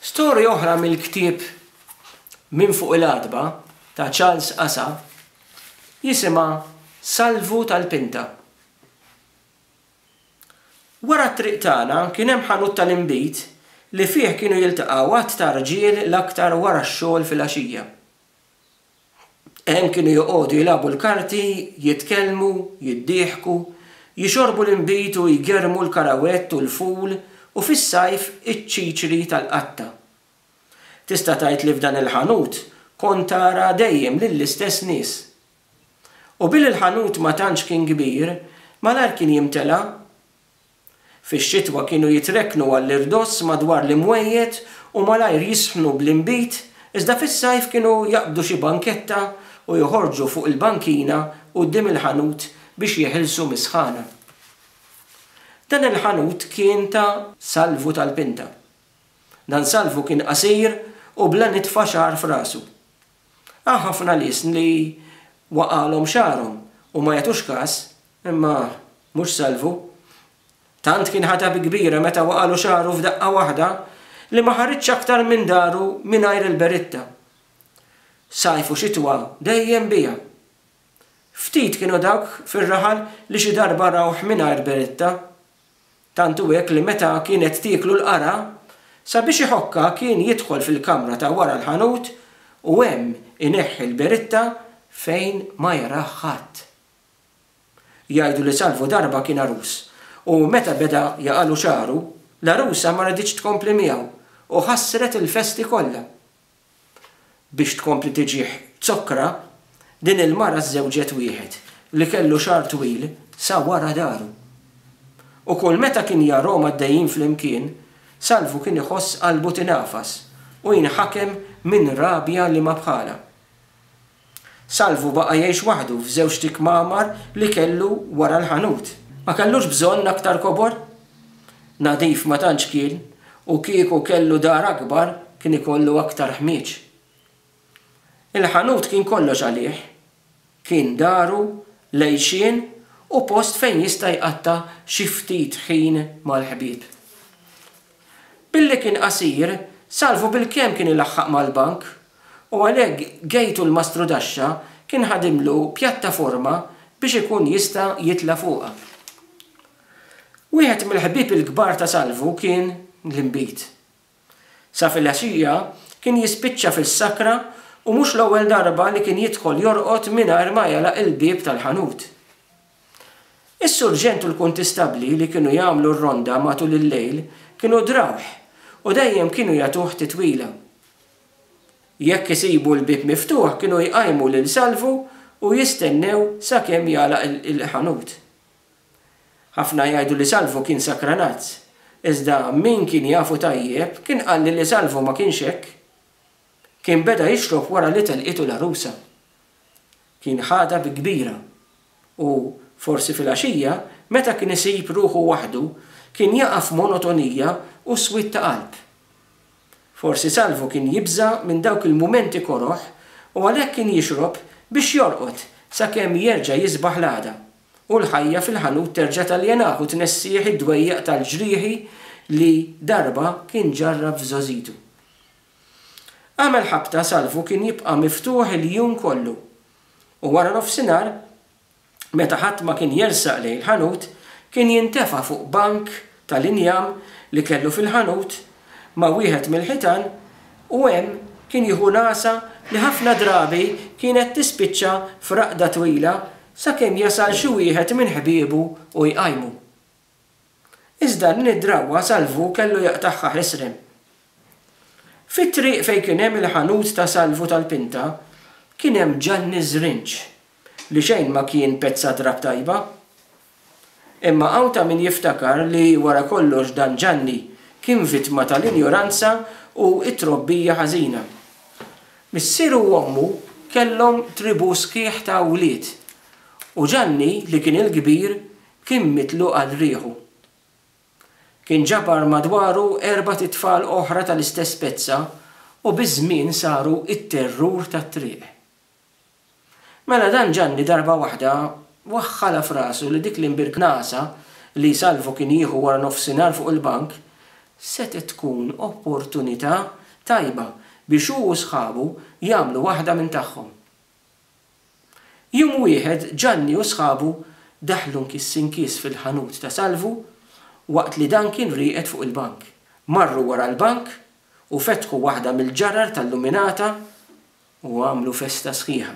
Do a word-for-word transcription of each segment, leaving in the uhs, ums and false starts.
Storja oħra mill-ktieb Minn fuq il-għatba ta' Charles Asa jisimha Salvu tal-Pinta. Wara t-triq tagħna kien hemm ħanut tal-inbid li fih kienu jiltaqgħu għadd ta' rġiel l-aktar wara x-xogħol filgħaxija. Hemm kienu joqogħdu jilagħbu l-karti, jitkellmu, jiddieħku, jixorbu l-inbid u jgerrmu l-karawett u l-ful u fis-sajf iċ-ċiċri tal-qatta. Tista' tgħid li f'dan il-ħanut kont tara dejjem lill-istess nies. U billi l-ħanut ma tantx kien kbir, malajr kien jimtela'. Fix-xitwa kienu jitrekknu għall-irdoss madwar l-imwejjed u malajr jisħnu bl-inbid, iżda fis-sajf kienu jaqbdu xi banketta u joħorġu fuq il-bankina quddiem il-ħanut biex jeħilsu mis-sħana. Dan il-ħanut kien ta' Salvu tal-Pinta. Dan Salvu kien qasir u bla nitfa xagħar f'rasu. Hawn ħafna nies li waqgħalhom xagħarhom u ma jagħtux kas, imma mhux Salvu. Tant kien ħadha bi kbira meta waqgħalu xagħru f'daqqa waħda li ma ħariġx aktar minn daru mingħajr il-beritta. Sajf u xitwa dejjem biha. Ftit kienu dawk fir-raħal li xi darba rawh mingħajr beritta. Tant hu hekk li meta kienet tieklu l-qara, sabiex iħokkha kien jidħol fil-kamra ta' wara l-ħanut u hemm ineħħi l-beritta fejn ma jarah ħadd. Jgħidu li Salvu darba kien għarus u meta beda jaqalu xagħru, l-għarusa ma riditx tkompli miegħu u ħassret il-festi kollha. Biex tkompli tiġih zokkra, din il-mara żżewġet wieħed li kellu xagħar twil sa wara daru. U kull meta kien jarahom għaddejjin flimkien, Salvu kien iħoss qalbu tingħafas u jinħakem minn rabja li ma bħalha. Salvu baqa' jgħix waħdu f'żewġt ikmamar li kellu wara l-ħanut. Ma kellux bżonn aktar kobor. Nadif ma tantx kien u kieku kellu dar akbar kien ikollu aktar ħmieġ. Il-ħanut kien kollox għalih. Kien daru, l-għixien u post fejn jista' jqatta' xi ftit ħin mal-ħbieb. Billi kien qasir, Salvu bilkemm kien ilaħħaq mal-bank u għalhekk Gejtu l-Mastrudaxxa kien ħadimlu pjattaforma biex ikun jista' jitla' fuqha. Wieħed mill-ħbieb il-kbar ta' Salvu kien l-inbid. Sa filgħaxija kien jispiċċa fis-sakra u mhux l-ewwel darba li kien jidħol jorqod mingħajr ma jagħlaq il-bieb tal-ħanut. Is-surġent u l-kuntistabbli li kienu jagħmlu r-ronda matul il-lejl kienu drawh u dejjem kienu jagħtuh titwila. Jekk isibu l-bieb miftuħ kienu jqajmu lil Salvu u jistennew sakemm jagħlaq il-ħanut. Ħafna jgħidu li Salvu kien sakranazz, iżda min kien jafu tajjeb kien qalli li Salvu ma kienx hekk. Kien beda jixrob wara li telqitu l-għarusa. Kien ħadha bi kbira u forsi filgħaxija meta kien isib ruħu waħdu kien jaqa' f'monotonija u swied ta' qalb. Forsi Salvu kien jibża' minn dawk il-mumenti koroh u għalhekk kien jixrob biex jorqod sakemm jerġa' jisbaħ l-għada u l-ħajja fil-ħanut terġa' taljenah u tnessih id-dwejjaq tal-ġrieħi li darba kien ġarrab f'żgħożitu. Għamel ħabta Salvu kien jibqa' miftuħ il-jum kollu u wara nofsinhar, meta ħadd ma kien jersaq lejn il-ħanut, kien jintefa' fuq bank tal-injam li kellu fil-ħanut ma' wieħed mill-ħitan u hemm kien jieħu nagħsa li ħafna drabi kienet tispiċċa f'raqda twila sakemm jasal xi wieħed minn ħbiebu u jqajmu. Iżda din id-drawwa Salvu kellu jaqtagħha ħesrem. Fit-triq fejn kien hemm il-ħanut ta' Salvu tal-Pinta kien hemm Ġanni Żrinġ li xejn ma kien pezza drapp tajba. Imma hawn ta' min jiftakar li wara kollox dan Ġanni kien vittma tal-injoranza u t-trobbija ħażina. Missieru u ommu kellhom tribù sħiħ ta' wlied u Ġanni, li kien il-kbir, kien mitluq għal rieħu. Kien ġabar madwaru erbat itfal oħra tal-istess pezza u biż-żmien saru t-terrur tat-triq. Mela dan Ġanni darba waħda waħħalha f'rasu li dik l-imbirknasa li Salvu kien jieħu wara nofsinhar fuq il-bank Setgħet tkun opportunità tajba biex hu u sħabu jagħmlu waħda minn tagħhom. Jum wieħed Ġanni u sħabu daħlu nkiss inkiss fil-ħanut ta' Salvu waqt li dan kien rieqed fuq il-bank. Marru wara l-bank u fetħu waħda mill-ġarar tal-luminata u għamlu festa sħiħa.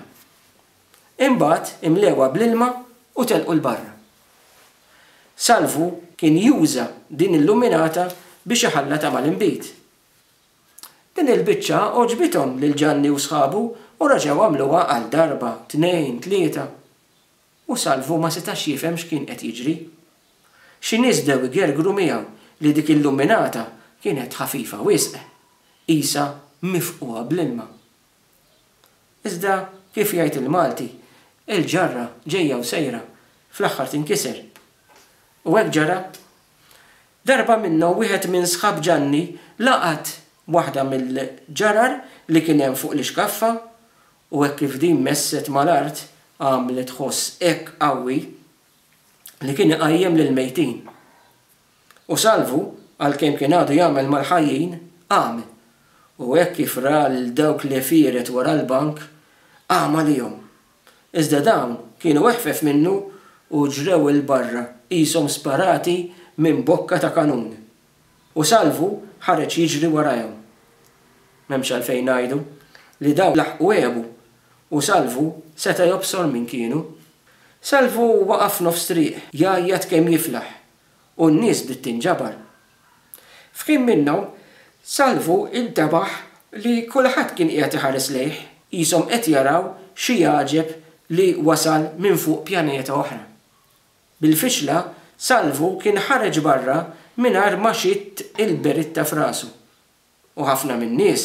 Imbagħad imlewha bl-ilma u telqu 'l barra. Salvu kien juża din il-luminata biex iħallatha mal-inbid. Din il-biċċa għoġbithom lil Ġanni u sħabu u reġgħu għamluha għal darba, tnejn, tlieta. U Salvu ma setax jifhem x'kien qed jiġri. Xi nies bdew igergru miegħu li dik il-luminata kienet ħafifa wisq, qisha mifqugħa bl-ilma. Iżda, kif jgħid il-Malti, il-ġarra ġejja u sejra, fl-aħħar tinkiser. U hekk ġara. Darba minnhom wieħed minn sħab Ġanni laqat waħda mill-ġarar li kien hemm fuq l-ixkaffa u hekk kif din messet mal-art għamlet ħoss hekk qawwi li kien iqajjem lill-mejtin. U Salvu, għalkemm kien għadu jagħmel mal-ħajjin, qam u hekk kif ra lil dawk l-għefieret wara l-bank, qam għalihom. Iżda dawn kienu eħfef minnu u ġrew 'il barra qishom sparati minn bokka ta' kanun. U Salvu ħareġ jiġri warajhom. M'hemmx għalfejn ngħidu li dawn laħqu għebu u Salvu seta' jobsor min kienu. Salvu waqa' f'nofs triq jgħajjat kemm jiflaħ u n-nies bdiet tinġabar. F'ħin minnhom Salvu intebaħ li kulħadd kien qiegħed iħares lejh, qishom qed jaraw xi għaġeb li wasal minn fuq pjaneta oħra. Bil-fixla, Salvu kien ħareġ barra mingħajr ma xitt il-beritta f'rasu. U ħafna min-nies,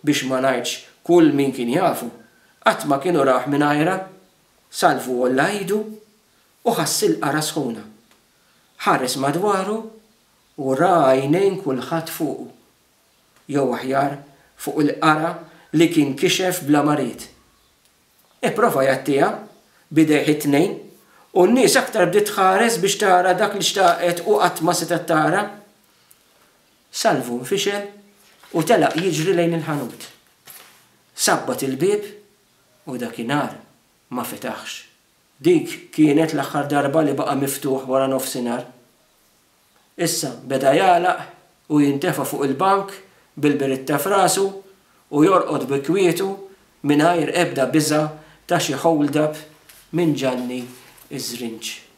biex ma ngħidx kull min kien jafu, qatt ma kienu rawh mingħajrha. Salvu għolla idu u ħass il-qara sħuna. Ħares madwaru u ra għajnejn kulħadd fuqu. Jew aħjar, fuq il-qara li kien kixef bla ma ried. Ipprova jgħattiha b'idejh it-tnejn u n-nies aktar bdiet tħares biex tara dak li xtaqet u qatt ma setgħet tara. Salvu nfixel u telaq jiġri lejn il-ħanut. Sabbat il-bieb u dakinhar ma fetaħx. Dik kienet l-aħħar darba li baqa' miftuħ wara nofsinhar. Issa beda jagħlaq u jintefa' fuq il-bank bil-beritta f'rasu u jorqod bi kwietu mingħajr ebda biża' ta' xi hold-up minn Ġanni ż-Żrinġ.